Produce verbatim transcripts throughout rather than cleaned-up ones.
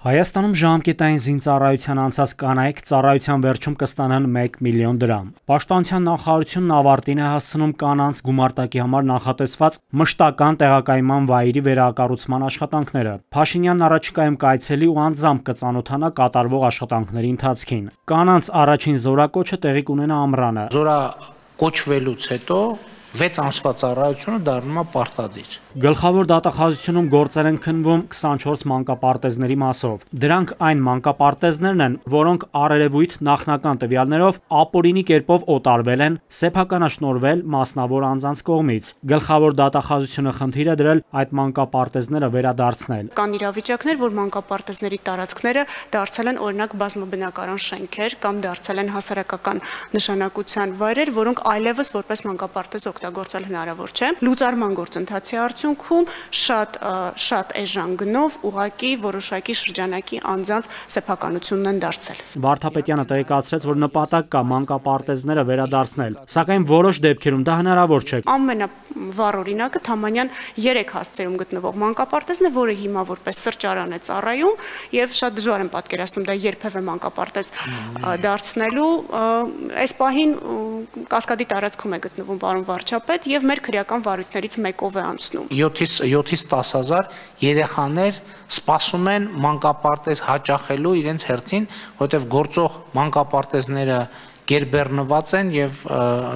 Հայաստանում ժամկետային զինծառայության անցած կանայք ծառայության վերջում կստանան մեկ միլիոն դրամ։ Պաշտպանության նախարարությունն ավարտին է հասցնում կանանց գումարտակի համար նախատեսված մշտական տեղակայման վայրի վերակառուցման աշխատանքները։ Փաշինյանն առաջիկայում կայցելի ու անձամբ կծանոթանա կատարվող աշխատանքների ընթացքին։ Կանանց առաջին զորակոչը տեղի կունենա ամռանը։ Զորակոչվելուց հետո վեց ամսվա ծառայությունը դառնում է պարտադիր։ Գլխավոր դատախազությունում գործեր են քննվում քսանչորս մանկապարտեզների մասով։ Դրանք այն մանկապարտեզներն են, որոնք առերևույթ նախնական տվյալներով ապօրինի կերպով օտարվել են, սեփականաշնորհվել մասնավոր անձանց կողմից։ Գլխավոր դատախազությունը խնդիր է դրել այդ մանկապարտեզները վերադարձնել։ Կան իրավիճակներ, որ մանկապարտեզների տարածքները դարձել են օրինակ բազմաբնակարան շենքեր կամ դարձել են հասարակական նշանակության վայրեր, որոնք այլևս որպես մանկապարտեզ օգտագործել հնարավոր չէ։ Լուծարման գործընթացի արդյունքում շատ շատ էժան գնով ուղղակի որոշակի շրջանակի անձանց սեփականությունն են դարձել։ Վարդապետյանը տեղեկացրեց, որ նպատակ կա մանկապարտեզները վերադարձնել, սակայն որոշ դեպքերում դա հնարավոր չէ։ Ամենավառ օրինակը Թամանյան երեք հասցեում գտնվող մանկապարտեզն է, որը հիմա որպես սրճարան է ծառայում, եւ շատ դժվար եմ պատկերացնում դա երբևէ մանկապարտեզ դարձնելու։ Այս պահին Կասկադի տարածքում է գտնվում պարոն վարչապետ եւ մեր քրեական վարույթներից մեկով է անցնում։ յոթից տաս հազար երեխաներ սպասում են մանկապարտեզ հաճախելու իրենց հերթին, որտեղ գործող մանկապարտեզները գերբեռնված են եւ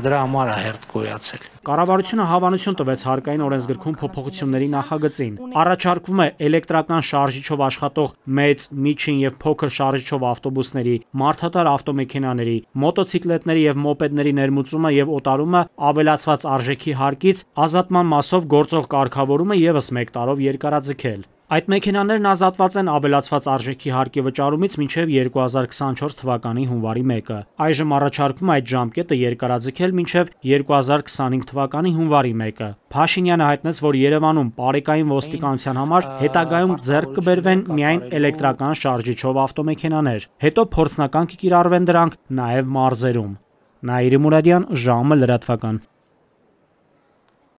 դրա համար է հերթ գոյացել։ Կառավարությունը հավանություն տվեց հարկային օրենսգրքում փոփոխությունների նախագծին։ Առաջարկվում է էլեկտրական շարժիչով աշխատող մեծ, միջին եւ փոքր շարժիչով ավտոբուսների, մարդատար ավտոմեքենաների, մոտոցիկլետների եւ մոպեդների ներմուծումը եւ օտարումը ավելացված արժեքի հարկից ազատման մասով գործող կարգավորումը եւս մեկ տարով երկարաձգել։ Այդ մեքենաներն ազատված են ավելացված արժեքի հարկի վճարումից մինչև երկու հազար քսանչորս թվականի հունվարի մեկը։ Այժմ առաջարկում այդ ժամկետը երկարաձգել մինչև երկու հազար քսանհինգ թվականի հունվարի մեկը։ Փաշինյանը հայտնեց, որ Երևանում բարեկային ոստիկանության համար հետագայում ձեռք կբերվեն միայն էլեկտրական շարժիչով ավտոմեքենաներ, հետո փորձնական կկիրառվեն դրանք նաև մարզերում։ Նաիրի Մուրադյան, ժամը լրատվական։